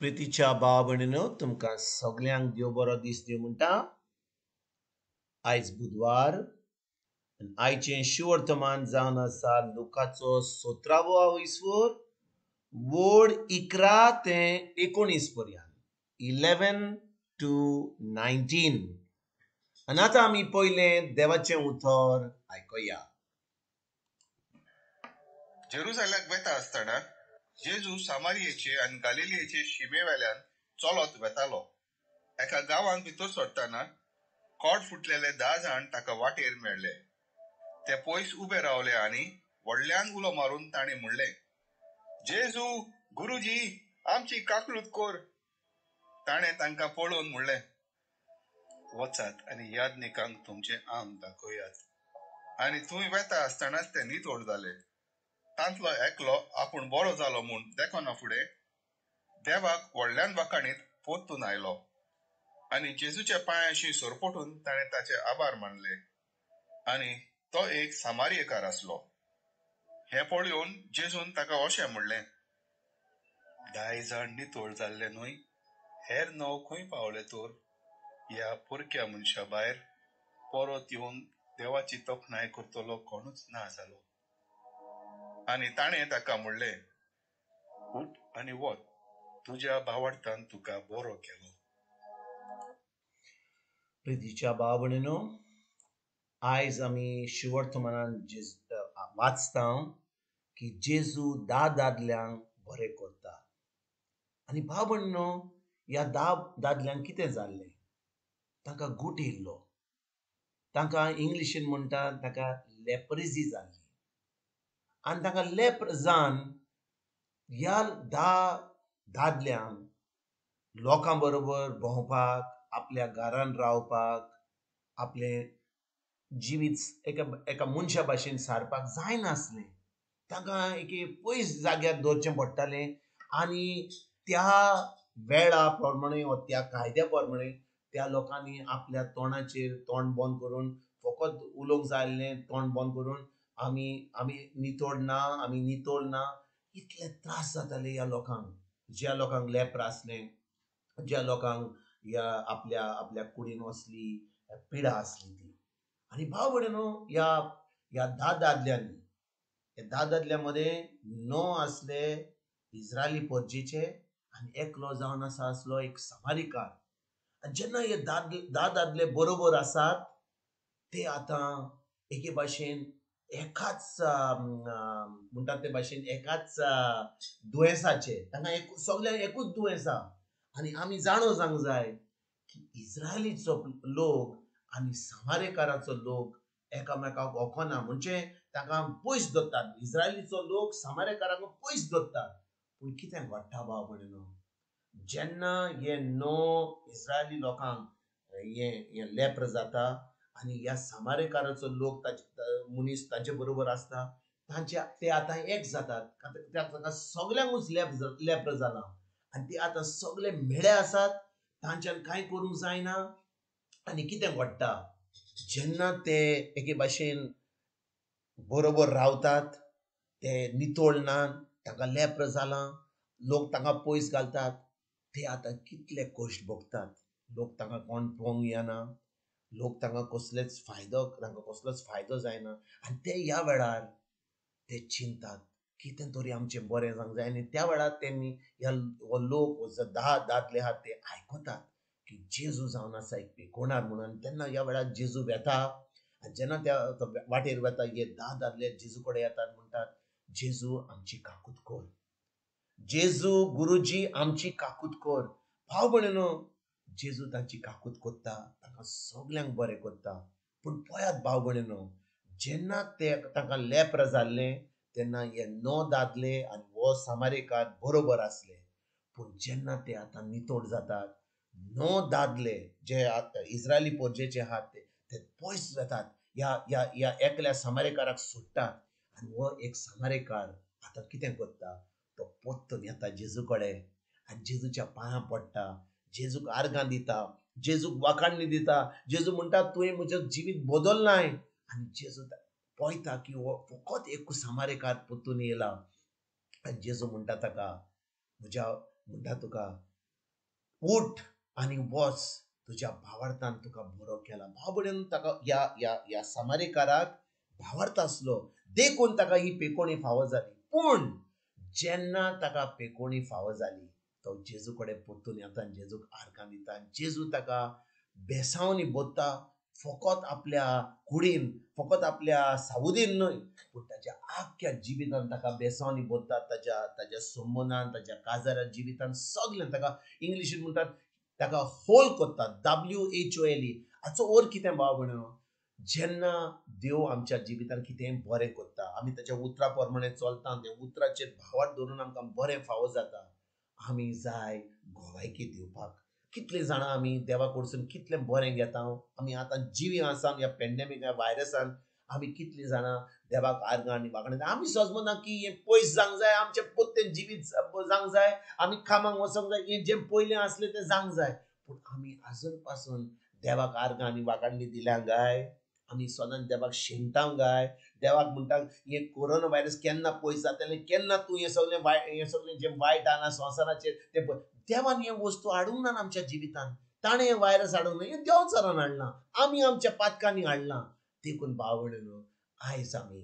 प्रितीच्या भाव भयणीनो, तुमकां सगल्यांक देव बरो दीस दिवं म्हणटा. आयज बुधवार, आयचें शिवर्तमान जावन आसा लुकाचो 17वो वयसर वड 11 ते 19 पर्यंत, 11 to 19. आनी आतां आमी पयलें देवाचें उतर आयकुया. जेरुजाल्याक वेता आसतना जेजू सामारियेचे आनी गालिलियेचे शिमेवेल्यान चलत वेतालो. एका गांवांत भितर सरतना कोड फुटलेले 10 जाण ताका वाटेर मेळ्ळे. ते पयस उबे रावले आनी व्हडल्यान उलो मारून ताणें म्हणलें, जेजू गुरुजी, आमची काकळूत कर. ताणें तांकां पळोवन म्हणलें, वचात आनी याज्ञिकांक तुमचें आंग दाखयात. आनी थंय वेता आसतनाच ते नितळ जाले. तांतलो एकलो आपूण बरो जालो म्हूण देखना फुडें देवाक व्हडल्यान वाखाणीत परतून आयलो आनी जेजूच्या पांयांशी सरपटून ताणें ताचे आभार मानले. आनी तो एक सामारियेकार आसलो. हें पळोवन जेजून ताका अशें म्हणलें, 10 जाण नितळ जाल्ले न्हय, हेर 9 खंय पावले तर? ह्या परक्या मनशा भायर परत येवन देवाची तोखणाय करतलो कोणूच ना जालो. आनी ताणें ताका म्हणलें, उठ आनी वच, तुज्या भावार्थान तुका बरो केलो. प्रितीच्या भाव भयणीनो, आयज आमी शिवर्तमानान वाचता की जेजू 10 दादल्यांक बरें करता. आनी भाव भयणीनो, ह्या 10 दादल्यांक कितें जाल्लें? तांकां गूट येयल्लो. तांकां इंग्लिशीन म्हणटा ताका लेप्रिजी जाल्ली. आनी तांकां लेप्र जावन ह्या 10 दादल्यांक लोकां बरोबर भोंवपाक, आपल्या घरान रावपाक, आपलें जिवीत एका मनशा भाशेन सारपाक जायनासलें. तांकां एके पयस जाग्यार दवरचें पडटालें. आनी त्या वेळा प्रमाणे वा त्या कायद्या प्रमाणे त्या लोकांनी आपल्या तोंडाचेर तोंड बंद करून फकत उलोवंक जाय आसलें, तोंड बंद करून आमी आमी नितळ ना, आमी नितळ ना. इतले त्रास जाताले ह्या लोकांक, ज्या लोकांक लेप्र आसलें, ज्या लोकांक ह्या आपल्या आपल्या कुडीन असली पिडा आसली ती. आनी भाव भयणीनो, ह्या ह्या 10 दादल्यांनी, ह्या 10 दादल्यां मदें 9 आसले इस्रायली परजेचे आनी एकलो जावन आसा आसलो एक समारिकार. आनी जेन्ना हे 10 दादले बरोबर आसात, ते आतां एके भाशेन एकाच म्हणटात ते भाशेन एकाच दुयेंसाचे, तांकां सगल्यांक एकूच दुयेंस आसा. आनी आमी जाणो जावंक जाय की इस्रायलीचो लोक आनी सामारेकाराचो लोक एकामेकाक वखना, म्हणजे तांकां पयस दवरतात. इस्रायलीचो लोक सामारेकारांक पयस दवरतात. पूण कितें घडटा भाव भयणीनो, जेन्ना हे 9 इस्रायली लोकांक हें लेप्र जाता आनी ह्या सामारेकाराचो लोक मनीस तांचे बरोबर आसता, तांचे ते आतां एक जातात. तांकां सगल्यांकूच लेप्र जालां आनी ते आतां सगळे मेळे आसात, तांच्यान कांय करूंक जायना. आनी कितें घडटा, जेन्ना ते एके भाशेन बरोबर रावतात, ते नितळ ना, तांकां लेप्र जालां, लोक तांकां पयस घालतात, ते आतां कितले कश्ट भोगतात. लोक तांकां कोण पळोवंक येना, लोक तांकां कसलेच फायदो, तांकां कसलोच फायदो जायना. आनी ते ह्या वेळार ते चिंतात कितें तरी आमचें बरें जावंक जाय. आनी त्या वेळार तेणी ह्या हो लोक 10 दादले आहात ते आयकतात की जेजू जावन आसा एक पेकोणार म्हणून. तेन्ना ह्या वेळार जेजू वेता आनी जेन्ना त्या वाटेर वेता, हे 10 दादले जेजू कडेन येतात, म्हणटात, जेजू आमची काकूत कर, जेजू गुरुजी आमची काकूत कर. भाव भयणीनो, जेजू तांची काकूत करता, तांकां सगल्यांक बरें करता. पूण पळयात भाव भयणीनो, जेन्ना ते तांकां लेप्र जाल्लें तेन्ना हे 9 दादले आनी हो सामारेकार बरोबर आसले. पूण जेन्ना ते आतां नितळ जातात, 9 दादले जे इस्रायली परजेचे आहात ते पयस जातात, ह्या ह्या ह्या एकल्या सामारेकाराक सोडटात. आनी हो एक सामारेकार आतां कितें करता, तो परतून येता जेजू कडेन आनी जेजूच्या पांयां पडटा, जेजूक आर्गां दिता, जेजूक वाखाणणी दिता. जेजू म्हणटा, तुवें म्हजें जिवीत बदललांय. आनी जेजू पळयता की हो फकत एक सामारेकार परतून येयला. आनी जेजू म्हणटा ताका, म्हज्या म्हणटा तुका उठ आनी वच, तुज्या भावार्थान तुका बरो केला. भाव भयणीन ताका ह्या ह्या ह्या सामारीकाराक भावार्थ आसलो देखून ताका ही पेकोणी फावो जाली. पूण जेन्ना ताका पेकोणी फावो जाली तो जेजू कडेन परतून येता आनी जेजूक आर्गां दिता आनी जेजू ताका बेसावनी बोत्ता, फकत आपल्या कुडीन, फकत आपल्या सावुदीन न्हय, पूण ताच्या आख्ख्या जिवितान ताका बेसावनी बोत्ता. ताच्या ताच्या संबंदान, ताच्या काजारा जिवितान सगळें ताका इंग्लिशीन म्हणटात ताका होल करता, WHOLE. हाचो अर्थ कितें भाव भयणीनो, जेन्ना देव आमच्या जिवितान कितेंय बरें करता, आमी ताच्या उतरा प्रमाणे चलता, त्या उतराचेर भावार्थ दवरून आमकां बरें फावो जाता, आमी जाय गोवायकी दिवपाक. कितलीं जाणां आमी देवा कडसून कितलें बरें घेता, आमी आतां जिवी आसा ह्या पेंडेमीक ह्या व्हायरसान, आमी कितलीं जाणां देवाक आर्गां आनी वागणां. आमी सजमना की हें पयस जावंक जाय, आमचें पोत्तें जिवीत जावंक जाय, आमी कामाक वचोंक जाय, हें जें पयलें आसलें तें जावंक जाय. पूण आमी आजून पासून देवाक आर्गां आनी वागांडी दिल्या गाय? आमी सदांच देवाक शेणटा गाय? देवाक म्हणटा हें कोरोना व्हायरस केन्ना पयस जातलें, केन्ना तूं हें सगळें हें सगळें जें वायट आहा संवसाराचेर तें देवान हें वस्तू हाडूंक ना आमच्या जिवितान. ताणें हें व्हायरस हाडूंक ना, हें देवचारान हाडलां, आमी आमच्या पातकांनी हाडलां. देखून भाव भयणीनो आयज आमी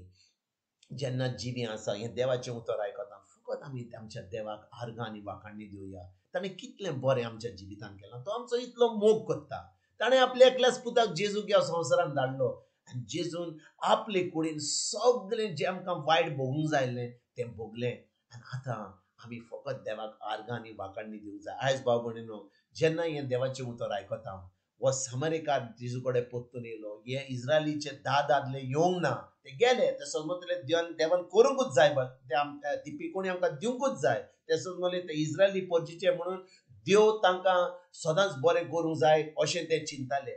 जेन्ना जिवीं आसा हें देवाचें उतर आयकता, फकत आमी आमच्या देवाक आर्गां आनी वाखाणी दिवया. ताणें कितलें बरें आमच्या जिवितान केलां, तो आमचो इतलो मोग करता. ताणें आपल्या एकल्याच पुताक जेजूक ह्या संवसारान धाडलो आनी जेजून आपले कुडीन सगळें जें आमकां वायट भोगूंक जाय आसलें तें भोगलें. आनी आतां आमी फकत देवाक आर्गां आनी वाखाणी दिवंक जाय. आयज भाव भयणीनो जेन्ना हें देवाचें उतर आयकता, हो सामारीकार जेजू कडेन परतून येयलो. हे इस्रायलीचे 10 दादले येवंक ना, ते गेले, ते समजले देवान करूंकूच जाय, ते ती पिकोणी आमकां दिवंकूच जाय. ते समजले ते इस्रायली परजीचे म्हणून देव तांकां सदांच बरें करूंक जाय अशें ते चिंताले.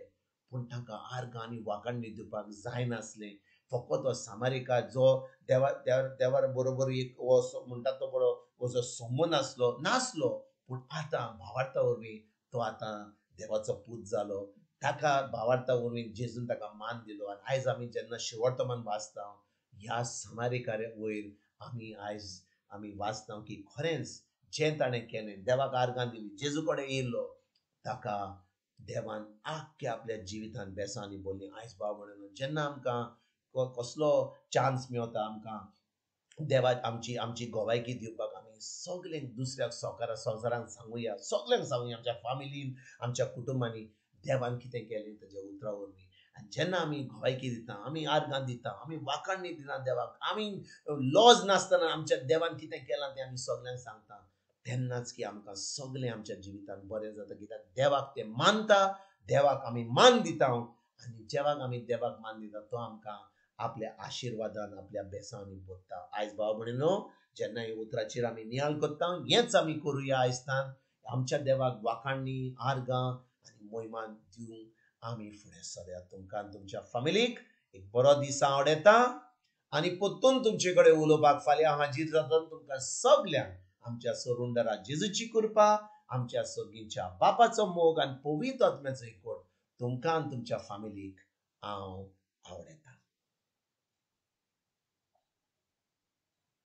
पूण तांकां आर्गां आनी वाखाणी दिवपाक जायनासलें. फकत हो सामारीकार जो देवा देवा बरोबर एक हो म्हणटा तो बरो हो जो संबंद आसलो नासलो, पूण आतां भावार्था वरवीं तो आतां देवाचो पूत जालो. ताका भावार्था वरवीं जेजून ताका मान दिलो. आनी आयज आमी जेन्ना शिवर्तमान वाचता ह्या सामारीकारा वयर आमी आयज आमी वाचता की खरेंच जें ताणें केलें, देवाक आर्गां दिली, जेजू कडेन येयलो, ताका देवान आख्ख्या आपल्या जिवितान बेसांनी बोल्ली. आयज भाव भयणीनो जेन्ना आमकां कसलो चान्स मेवता आमकां देवाक आमची आमची गोवायकी दिवपाक, आमी सगळ्यांक दुसऱ्याक संवसारांत सांगुया, सगळ्यांक सांगुया, आमच्या फामिलीन, आमच्या कुटुंबांनी देवान कितें केलें ताच्या उतरा वरवीं. आनी जेन्ना आमी गोवायकी दिता, आमी आर्गां दिता, आमी वाखाणी दिता देवाक, आमी लॉज नासतना आमच्या देवान कितें केलां तें आमी सगळ्यांक सांगता, तेन्नाच की आमकां सगळें आमच्या जिवितान बरें जाता. कित्याक देवाक तें मानता, देवाक आमी मान दिता आनी जेवाक आमी देवाक मान दिता तो आमकां आपल्या आशिर्वादान, आपल्या बेसांनी बोत्ता. आयज भाव भयणीनो जेन्ना ह्या उतराचेर आमी नियाळ करता, हेंच आमी करुया. आयजतान आमच्या देवाक वाखाणी, आर्गां आनी मोहिमान दिवंक आमी फुडें सरया. तुमकां आनी तुमच्या फामिलीक एक बरो दीस आवडटा आनी परतून तुमचे कडेन उलोवपाक फाल्यां हाजीर जाता. तुमकां सगल्यांक आमच्या सरुंडरा जेजूची कृपा, आमच्या सगळींच्या बापाचो मोग आनी पवित्र आत्म्याचो एकवट तुमकां आनी तुमच्या फामिलीक हांव आवडटा.